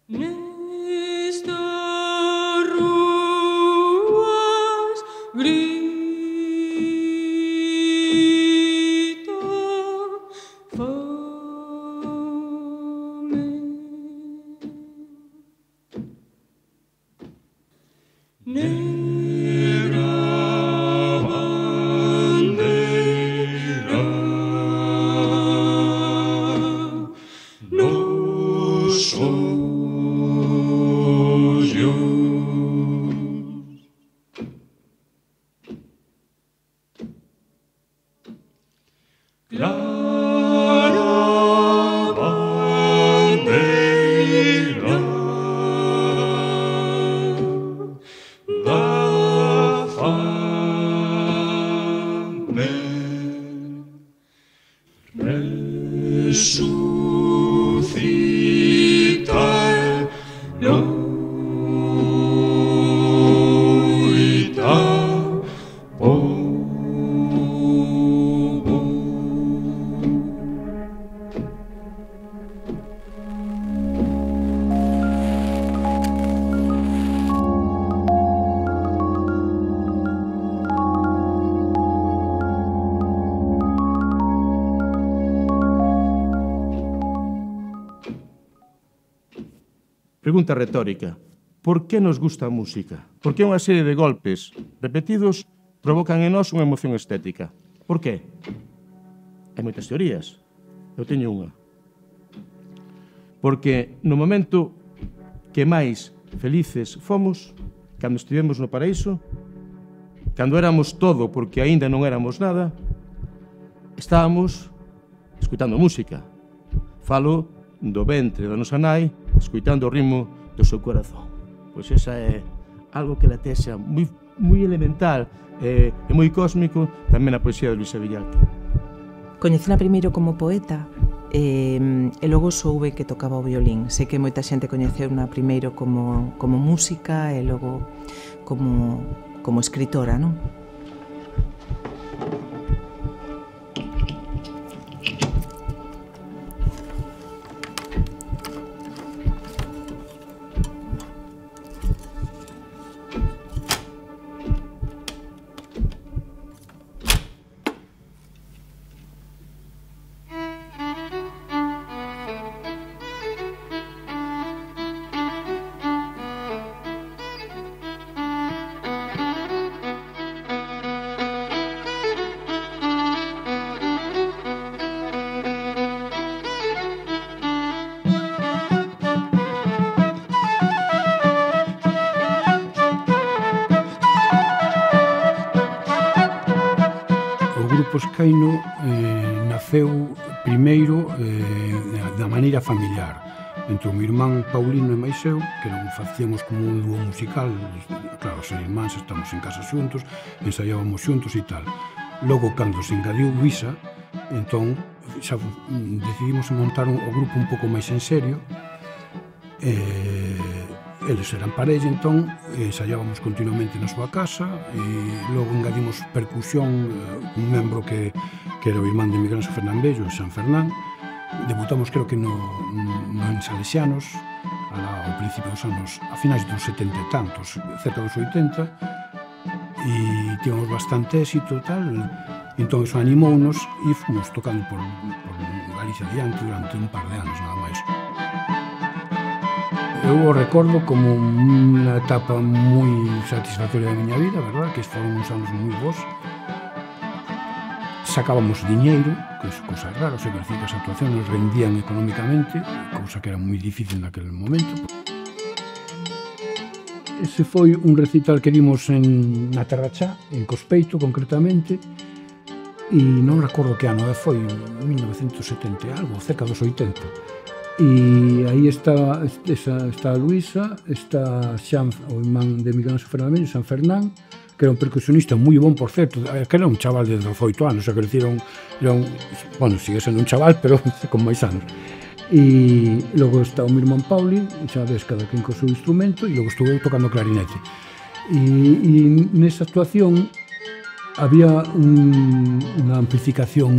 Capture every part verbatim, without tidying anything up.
Nestas ruas grita fame. Negra bandeira nos ollos, clara bandeira da fame, resucita loita povo. Pregunta retórica. Por que nos gusta a música? Por que unha serie de golpes repetidos provocan en nós unha emoción estética? Por qué? Hai moitas teorías. Eu teño unha. Porque no momento que máis felices fomos, cando estivemos no paraíso, cando éramos todo porque aínda non éramos nada, estábamos escutando música. Falo do ventre da nosa nai, escuitando o ritmo do seu corazón. Pois esa é algo que latexa moi, moi elemental e, e moi cósmico tamén na poesía de Luisa Villalta. Coñecela primeiro como poeta e, e logo soube que tocaba o violín. Sei que moita xente coñeceuna primeiro como, como música e logo como, como escritora, non? Escaino eh, naceu primeiro eh, da maneira familiar entre o meu irmán Paulino e máis eu, que non facíamos como un dúo musical. Claro, os irmáns estamos en casa xuntos, ensaiábamos xuntos e tal. Logo, cando se engadiu Luisa, entón xa decidimos montar un, o grupo un pouco máis en serio. eh, eles eran parella, entón ensaiábamos continuamente na súa casa e logo engadimos percusión, un membro que, que era o irmán de Miguel Ángel Fernandelo, San Fernán. Debutamos creo que no, no en Salesianos ao principio dos anos, a finais dos setenta e tantos, cerca dos oitenta, e tivemos bastante éxito e tal. Entón iso animounos e fomos tocando por, por Galicia adiante durante un par de anos nada máis. Eu o recordo como unha etapa moi satisfactoria da miña vida, verdad? Que foron uns anos moi bons. Sacábamos diñeiro, que é cosa rara, o sea, que as actuacións nos rendían económicamente, cousa que era moi difícil naquele momento. Ese foi un recital que dimos en, na Terrachá, en Cospeito, concretamente, e non recordo que ano, foi en mil novecentos e setenta e algo, cerca dos oitenta. E aí está, esa, está a Luisa, está Xan, o irmán de Miguel Ángel Fernandelo, San Fernán, que era un percusionista moi bon, por certo, que era un chaval de dezoito anos, o sea, que era un, era un, bueno, sigue sendo un chaval, pero con máis anos. E logo está o meu irmán Pauli, xa ves, cada quen co seu instrumento, e logo estuve tocando clarinete. E, e nesa actuación había un, unha amplificación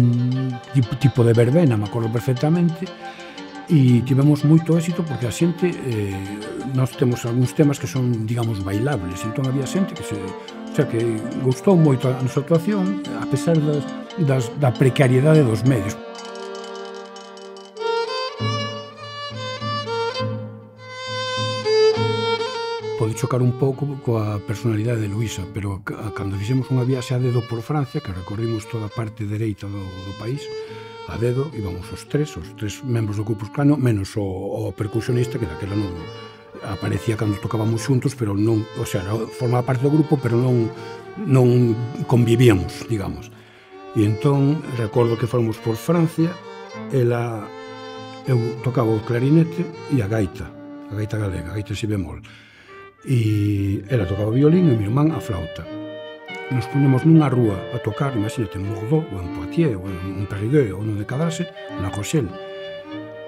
tipo, tipo de verbena, me acordo perfectamente, e tivemos moito éxito porque a xente, eh, nós temos algúns temas que son, digamos, bailables, entón había xente que se, o sea, que gustou moito a nosa actuación a pesar das, das, da precariedade dos medios. Pode chocar un pouco coa personalidade de Luisa, pero cando fixemos unha viaxe a dedo por Francia, que recorrimos toda a parte dereita do, do país, a dedo, íbamos os tres, os tres membros do Ku Klux Klan, menos o, o percusionista, que daquela non aparecía cando tocábamos xuntos, pero non, o sea, formaba parte do grupo, pero non, non convivíamos, digamos. E entón, recordo que fomos por Francia, ela, eu tocaba o clarinete e a gaita, a gaita galega, a gaita si bemol. E ela tocaba o violín e o meu irmán a flauta. Nos ponemos nunha rúa a tocar, imagínate, en Bordeaux, ou en Poitiers, ou en Périgueux, ou no de Cadase, na Rochelle.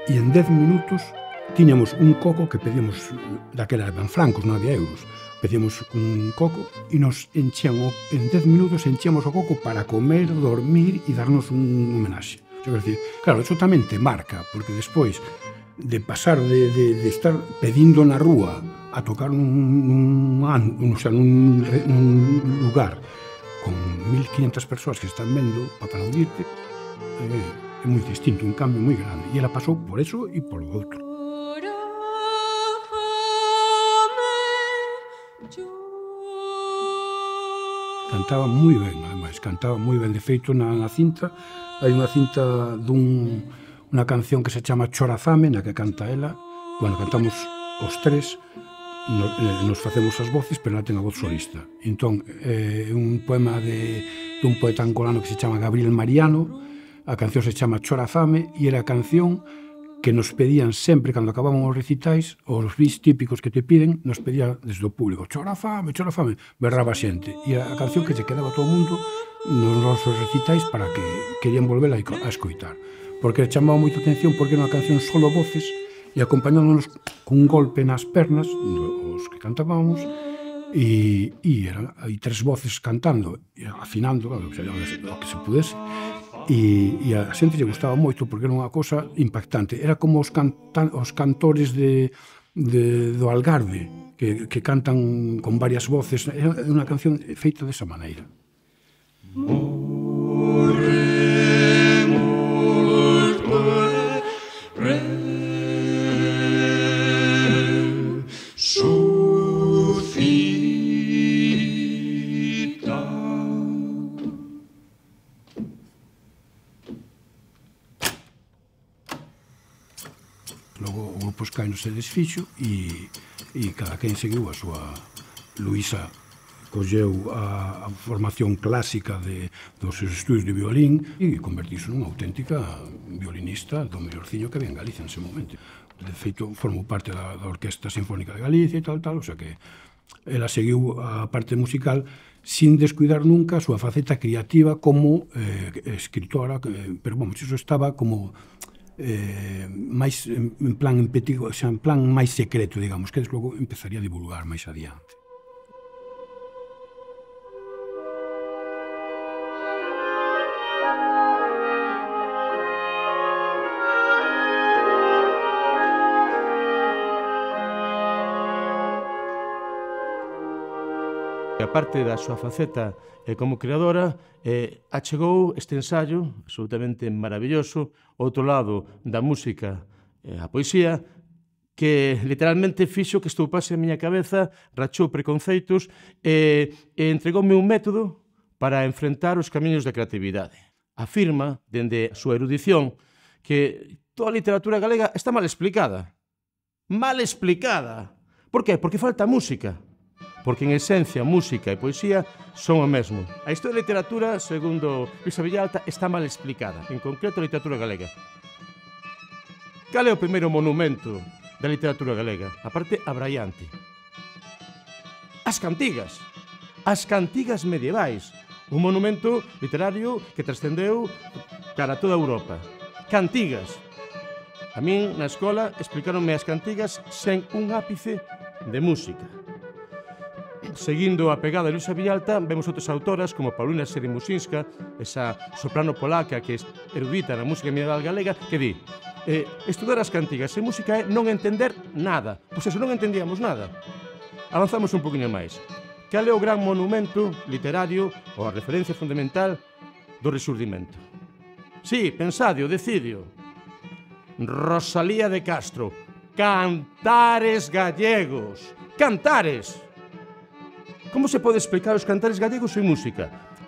E en dez minutos tiñamos un coco que pedíamos, daquela eran francos, non había euros, pedíamos un coco e nos enchían, en dez minutos enchíamos o coco para comer, dormir e darnos un homenaxe. O sea, decir, claro, eso tamén te marca, porque despois de pasar de, de, de estar pedindo na rúa a tocar nun, nun, o sea, nun, nun lugar con mil quinhentas persoas que están vendo para aplaudirte, é, é moi distinto, un cambio moi grande. E ela pasou por eso e por o outro. Cantaba moi ben, ademais, cantaba moi ben. De feito, na, na cinta, hai unha cinta dun, unha canción que se chama Chorazame, na que canta ela. Bueno, cantamos os tres, nos, eh, nos facemos as voces, pero ela ten a voz solista. Entón, é eh, un poema de, de un poeta angolano que se chama Gabriel Mariano, a canción se chama Chorazame, e era a canción que nos pedían sempre, cando acababan os recitais, os bis típicos que te piden, nos pedía desde o público, Chorazame, Chorazame, berraba a xente. E era a canción que se quedaba todo o mundo nos nosos recitais para que querían volver a, a escoitar. Porque chamaba moita atención porque era unha canción solo voces, e acompañándonos cun golpe nas pernas, os que cantábamos, e, e eran aí tres voces cantando, e afinando, claro, o que se pudese, e, e a xente lle gustaba moito porque era unha cosa impactante. Era como os, canta, os cantores de, de, do Algarve, que, que cantan con varias voces. Era unha canción feita desa maneira. Logo o grupo Sky non se desfixo e, e cada quen seguiu a súa. Luisa colleu a, a formación clásica de, dos seus estudios de violín e convertiuse nunha auténtica violinista do mellorciño que había en Galicia en ese momento. De feito, formou parte da, da Orquesta Sinfónica de Galicia e tal, tal, o sea que ela seguiu a parte musical sin descuidar nunca a súa faceta creativa como eh, escritora, eh, pero, vamos, iso estaba como eh, máis en, en plan en petigo, o sea, en plan máis secreto, digamos, que deslogo empezaría a divulgar máis adiante. A parte da súa faceta eh, como creadora, eh, achegou este ensaio absolutamente maravilloso ao outro lado da música, eh, a poesía, que literalmente fixo que estoupase a miña cabeza, rachou preconceitos e, e entregoume un método para enfrentar os camiños da creatividade. Afirma, dende a súa erudición, que toda a literatura galega está mal explicada. Mal explicada. Por que? Porque falta música. Porque en esencia, música e poesía son o mesmo. A historia da literatura, segundo Luisa Villalta, está mal explicada, en concreto a literatura galega. Cal é o primeiro monumento da literatura galega? A parte abraiante. As cantigas. As cantigas medievais. Un monumento literario que trascendeu cara a toda Europa. Cantigas. A min, na escola, explicaronme as cantigas sen un ápice de música. Seguindo a pegada de Luisa Villalta, vemos outras autoras como Paulina Seremusinska, esa soprano polaca que é erudita na música medieval galega, que di: eh, estudar as cantigas e música é non entender nada. Pois eso, non entendíamos nada. Avanzamos un poquinho máis. Cal é o gran monumento literario ou a referencia fundamental do Resurdimento? Sí, pensadio, decidio. Rosalía de Castro. Cantares gallegos. Cantares! Como se pode explicar os cantares gallegos en música?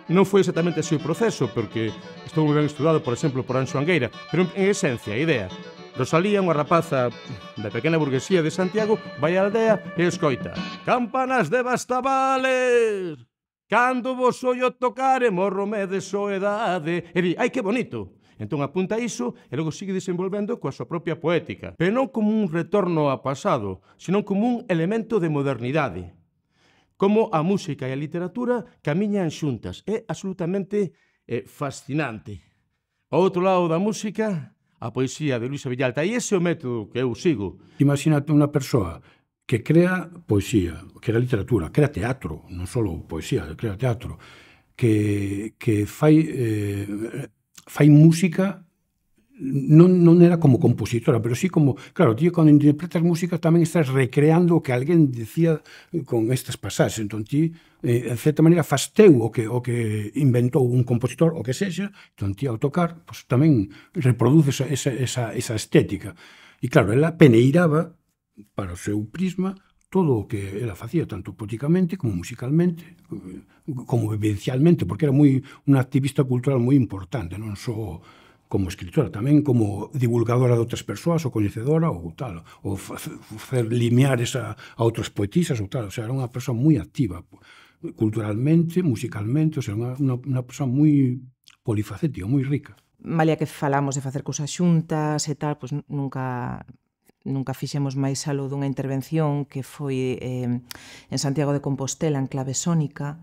Non foi exactamente así o proceso, porque estou moi ben estudado, por exemplo, por Anxo Angueira, pero en esencia, a idea. Rosalía, unha rapaza da pequena burguesía de Santiago, vai á aldea e escoita: campanas de Bastavales, cando vos ollo tocare, morrome de soedade. E di, ai, que bonito. Entón apunta iso e logo sigue desenvolvendo coa súa propia poética, pero non como un retorno ao pasado, senón como un elemento de modernidade. Como a música e a literatura camiñan xuntas. É absolutamente eh, fascinante. Ao outro lado da música, a poesía de Luisa Villalta. E ese é o método que eu sigo. Imagínate unha persoa que crea poesía, crea literatura, crea teatro, non só poesía, crea teatro, que, que fai, eh, fai música. Non, non era como compositora, pero sí como, claro, tío, cando interpretas música tamén estás recreando o que alguén decía con estas pasaxes. Entón, ti, eh, en certa maneira, faz teu o que, o que inventou un compositor, o que sexa, entón, ti, ao tocar, pues, tamén reproduces esa, esa, esa estética. E, claro, ela peneiraba para o seu prisma todo o que ela facía, tanto poéticamente como musicalmente, como vivencialmente, porque era moi unha activista cultural moi importante, non só como escritora, tamén como divulgadora de outras persoas, ou coñecedora, ou tal, ou facer lineares a, a outras poetisas, ou tal. O sea, era unha persoa moi activa, culturalmente, musicalmente, o sea, unha, unha, unha persoa moi polifacética, moi rica. Malia que falamos de facer cousas xuntas e tal, pois nunca... nunca fixemos máis algo dunha intervención que foi eh, en Santiago de Compostela, en clave sónica,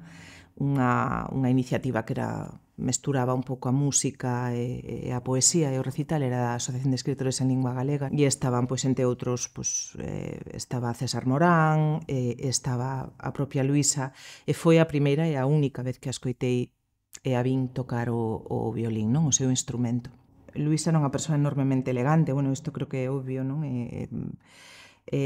unha, unha iniciativa que era mesturaba un pouco a música e, e a poesía e o recital, era da Asociación de Escritores en Lingua Galega, e estaban, pois, entre outros, pois, eh, estaba César Morán, eh, estaba a propia Luisa, e foi a primeira e a única vez que a escoitei e a vin tocar o, o violín, non? O seu instrumento. Luisa era unha persoa enormemente elegante, bueno, isto creo que é obvio, non? E, e,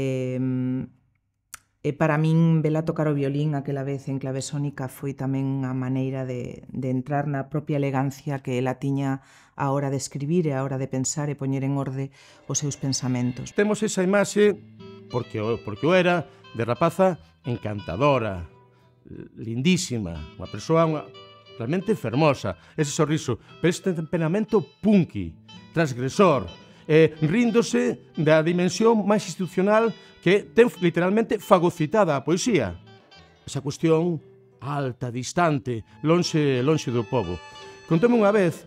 e para min, vela tocar o violín aquela vez en clave sónica foi tamén unha maneira de, de entrar na propia elegancia que ela tiña a hora de escribir e a hora de pensar e poñer en orde os seus pensamentos. Temos esa imaxe, porque, porque o era, de rapaza encantadora, lindísima, unha persoa unha, realmente fermosa, ese sorriso, pero este temperamento punky, transgresor, eh, ríndose da dimensión máis institucional que ten literalmente fagocitada a poesía. Esa cuestión alta, distante, lonxe, lonxe do povo. Contoume unha vez,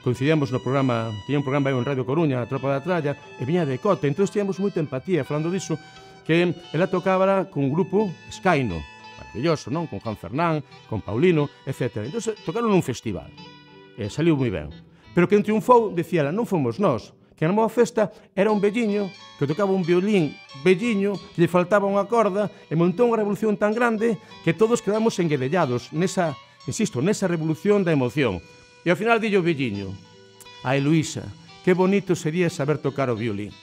coincidíamos no programa, tiña un programa en Radio Coruña, a Tropa da Tralla, e viña de Cote, entón tíamos moita empatía falando diso, que ela tocaba con un grupo Escaino, maravilloso, non? Con Juan Fernán, con Paulino, etcétera. Entón, tocaron nun festival. E saliu moi ben. Pero quen triunfou, decía ela, non fomos nós. Que na moa festa era un velliño que tocaba un violín velliño, que lle faltaba unha corda, e montou unha revolución tan grande que todos quedamos enguedellados nesa, insisto, nesa revolución da emoción. E ao final dillo o velliño: ai, Luisa, que bonito sería saber tocar o violín.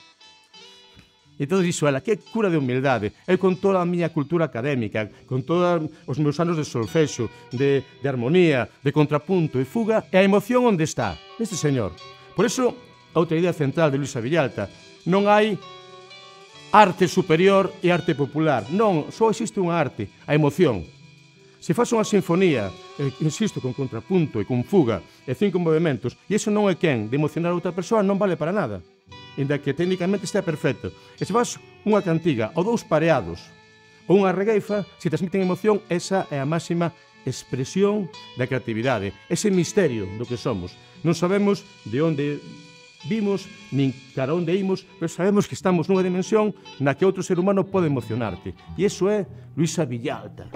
E todo dixo ela, que cura de humildade. Eu con toda a miña cultura académica, con todos os meus anos de solfexo, de, de armonía, de contrapunto e fuga, e a emoción onde está? Neste señor. Por iso, a outra idea central de Luisa Villalta, non hai arte superior e arte popular. Non, só existe unha arte, a emoción. Se faz unha sinfonía, eh, insisto, con contrapunto e con fuga, e cinco movimentos, e iso non é quen de emocionar a outra persoa, non vale para nada. Inda que técnicamente está perfecto. E se faz unha cantiga ou dous pareados ou unha regueifa, se transmiten emoción, esa é a máxima expresión da creatividade, ese misterio do que somos. Non sabemos de onde vimos, nin cara onde imos, pero sabemos que estamos nunha dimensión na que outro ser humano pode emocionarte. E iso é Luisa Villalta.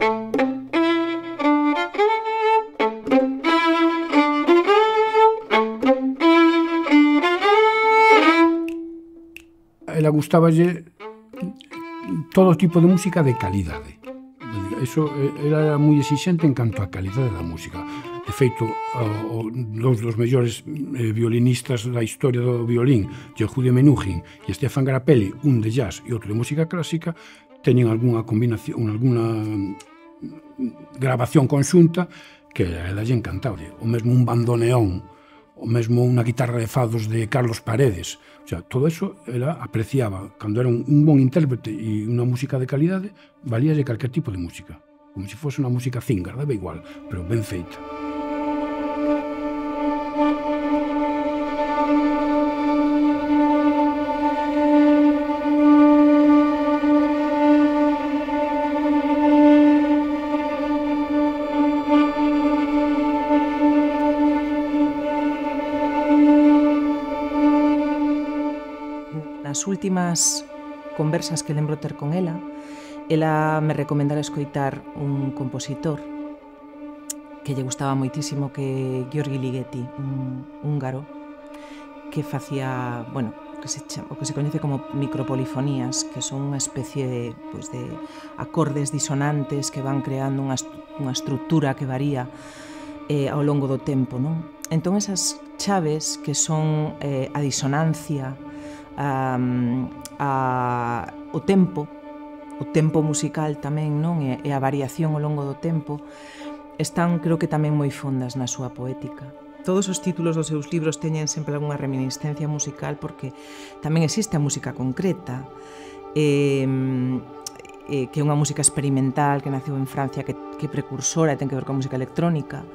Ela gustaballe todo tipo de música de calidade. Eso, ela era moi exixente en canto a calidade da música. De feito, o, o, dous dos mellores eh, violinistas da historia do violín, Yehudi Menuhin e Stefan Grappelli, un de jazz e outro de música clásica, teñen algunha combinación, alguna grabación conxunta que a ela lle encantaba. O mesmo un bandoneón, o mesmo unha guitarra de fados de Carlos Paredes. O sea, todo eso ela apreciaba. Cando era un, un bon intérprete e unha música de calidade, valíalle calquer tipo de música. Como se fose unha música zingar, daba igual, pero ben feita. Nas últimas conversas que lembro ter con ela, ela me recomendara escoitar un compositor que lle gustaba moitísimo, que György Ligeti, un húngaro que facía, bueno, que se chama, o que se coñece como micropolifonías, que son unha especie de, pues, de acordes disonantes que van creando unha, unha estructura que varía eh, ao longo do tempo, non? Entón, esas chaves que son eh, a disonancia, a, a, o tempo, o tempo musical tamén, non? E, e a variación ao longo do tempo están, creo que tamén moi fondas na súa poética. Todos os títulos dos seus libros teñen sempre algunha reminiscencia musical, porque tamén existe a música concreta, eh, eh, que é unha música experimental que naceu en Francia, que, que é precursora e ten que ver coa música electrónica,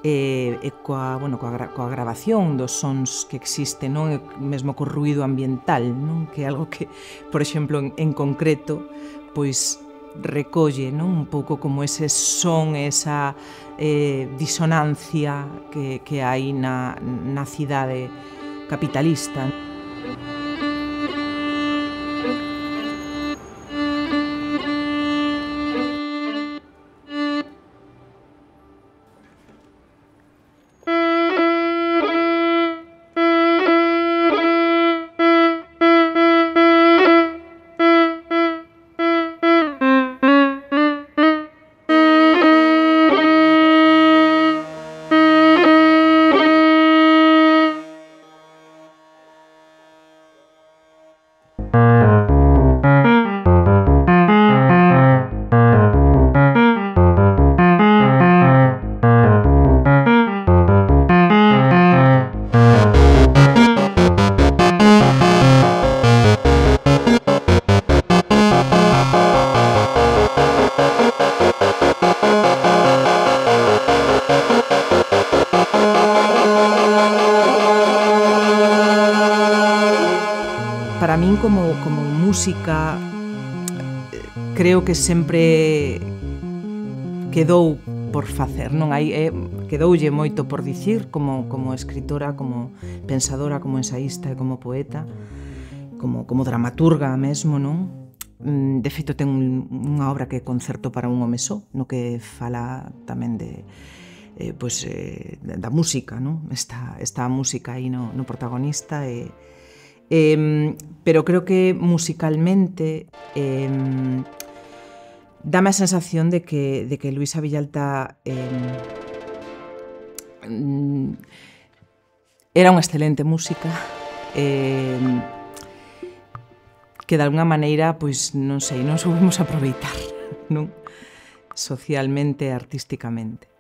e, e coa, bueno, coa, coa grabación dos sons que existen, non? E mesmo co ruído ambiental, non? Que é algo que, por exemplo, en, en concreto, pois recolle, non? Un pouco como ese son, esa eh, disonancia que, que hai na, na cidade capitalista. Para min, como, como música, creo que sempre quedou por facer, non? Hai, eh, quedoulle moito por dicir como, como escritora, como pensadora, como ensaísta e como poeta, como, como dramaturga mesmo, non? De feito, ten un, unha obra que é Concerto para un home só, no que fala tamén de eh, pues, eh, da música, non? Esta, esta música aí no, no protagonista e Eh, pero creo que musicalmente eh, dame a sensación de que, de que Luisa Villalta eh, era unha excelente música, eh, que de alguna maneira, pois, non sei, non soubemos aproveitar, non? Socialmente e artísticamente.